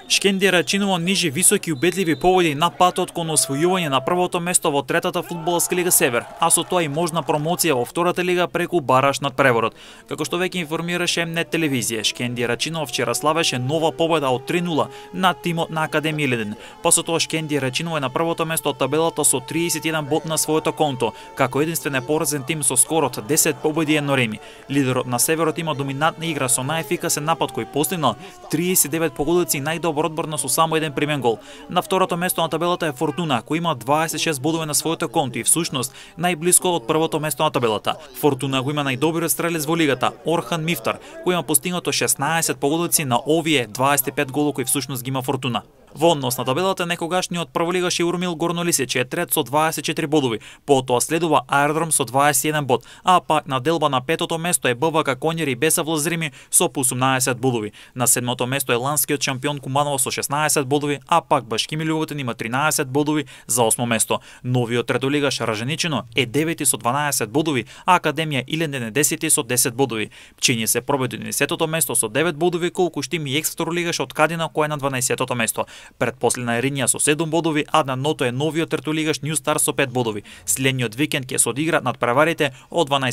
Шкендија Рачиново нижи високи убедливи победи на патот кон освојување на првото место во третата фудбалска лига Север, а со тоа и можна промоција во втората лига преку бараж над Превород. Како што веќе информираше МНЕТ телевизија, Шкендија Рачиново вчера славеше нова победа од 3-0 над тимот на Академија Илинден. Па со тоа Шкендија Рачиново е на првото место од табелата со 31 бод на своето конто, како единствен непоразен тим со скор од 10 победи и едно реми. Лидерот на Северот има доминантна игра со најефикасен напад кој постигнал 39 погодици и најдобар одбрана со само еден примен гол. На второто место на табелата е Фортуна, кој има 26 бодови на своето конто и всушност најблиско од првото место на табелата. Фортуна го има најдобриот стрелец во лигата, Орхан Мифтар, кој има постигнато 16 погодици на овие 25 голови кои всушност ги има Фортуна. Во однос на табелата некогашниот прволигаш Урмил Горнолисич е трет со 24 бодови, потоа следува Аеродром со 21 бод, а пак на делба на петото место е БВК Конјери Бесав Лозрими со 18 бодови. На седмото место е ланскиот шампион Куманово со 16 бодови, а пак Башкими Љубовитин има 13 бодови за 8 место. Новиот третолигаш Раженичино е 9 со 12 бодови, а Академија Илинден е 10 со 10 бодови. Пчиње се пробеди на 10-тото место со 9 бодови, колку што има и екс-второлигаш од Кадина кој е на 12-тото место. Предпоследна е Ринја со 7 бодови, а на ното е новиот третолигаш Нју Стар со 5 бодови. Следниот викенд ќе се одигра над преварите од 12